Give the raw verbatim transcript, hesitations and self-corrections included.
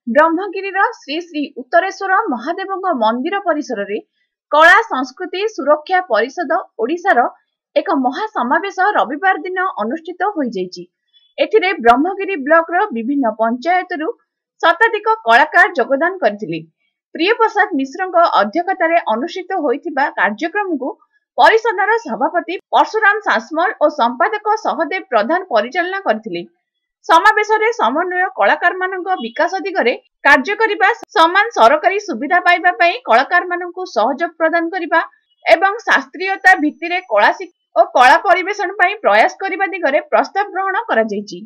ବ୍ରହ୍ମଗିରିର ଶ୍ରୀ ଶ୍ରୀ ଉତ୍ତରେଶ୍ୱର ମହାଦେବଙ୍କ ମନ୍ଦିର ପରିସରରେ କଳା ସଂସ୍କୃତି ସୁରକ୍ଷା ପରିଷଦ ଓଡ଼ିଶାର ଏକ ମହାସମାବେଶ ରବିବାର ଦିନ ଅନୁଷ୍ଠିତ ହୋଇଯାଇଛି। ଏଥିରେ ବ୍ରହ୍ମଗିରି ବ୍ଲକର ବିଭିନ୍ନ ପଞ୍ଚାୟତରୁ ଶତାଧିକ କଳାକାର ଯୋଗଦାନ କରିଥିଲେ। ପ୍ରିୟପ୍ରସାଦ ମିଶ୍ରଙ୍କ ଅଧ୍ୟକ୍ଷତାରେ ଅନୁଷ୍ଠିତ ହୋଇଥିବା କାର୍ଯ୍ୟକ୍ରମକୁ ପରିଷଦର ସଭାପତି ପରଶୁରାମ ସାସମଲ ଓ ସମ୍ପାଦକ ସହଦେବ ପ୍ରଧାନ ପରିଚାଳନା କରିଥିଲେ। ସମାବେଶରେ ସମନ୍ୱୟ କଳାକାରମାନଙ୍କ ବିକାଶ ଦିଗରେ କାର୍ଯ୍ୟ କରିବା, ସମାନ ସରକାରୀ ସୁବିଧା ପାଇବା ପାଇଁ କଳାକାରମାନଙ୍କୁ ସହଯୋଗ ପ୍ରଦାନ କରିବା ଏବଂ ଶାସ୍ତ୍ରୀୟତା ଭିତ୍ତିରେ କଳା ଶିକ୍ଷା ଓ କଳା ପରିବେଷଣ ପାଇଁ ପ୍ରୟାସ କରିବା ଦିଗରେ ପ୍ରସ୍ତାବ ଗ୍ରହଣ କରାଯାଇଛି।